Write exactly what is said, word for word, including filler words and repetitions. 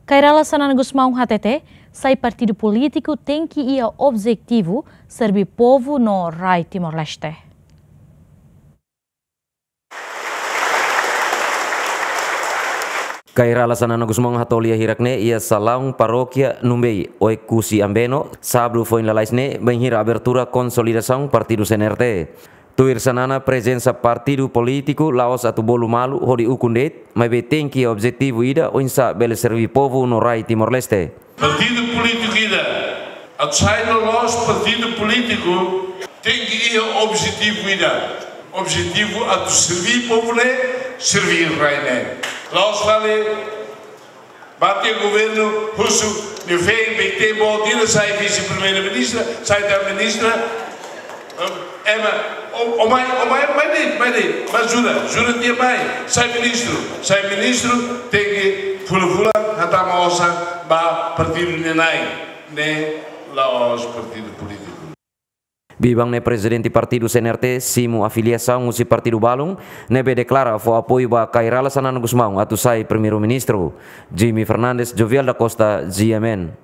Kay Rala Xanana Gusmão hatete, sai partidu polítiku tenke iha objetivu serví povu no rai Timor-Leste. Kay Rala Xanana Gusmão hato'o lia hirak ne'e iha salaun parókia Numbei, Oekusi Ambeno, sábadu foin lalais ne'e, bainhira abertura konsolidasaun partidu C N R T. Tuir Xanana, prezensa partidu polítiku la'ós atu bolu malu hodi ukun de'it, maibé tenke objetivu ida oinsá bele serví povu no rai Timor-Leste. Partidu polítiku ida atu sai loloos partidu polítiku tenke iha objetivu ida. Objetivu atu serví povu ne'e, serví rai ne'e. La'ós fali bá tiha governu husu, nia feen, B T, boot ida, sai vise-primeiru-ministra, sai tan ministra. Ema, o, o mai, o mai, mai de'it, mai de'it, mai ajuda, ajuda tiha mai, sai ministru, sai ministru, tenke fulan-fulan hatama osan ba partidu nia na'in, ne'e la'ós partidu polítiku. Biban ne'e prezidente partidu C N R T simu afiliasaun husi partidu balun, ne'ebé deklara fó apoiu ba Kay Rala Xanana Gusmão atu sai primeiru-ministru. Jimmy Fernandes, Jovial da Costa, G M N.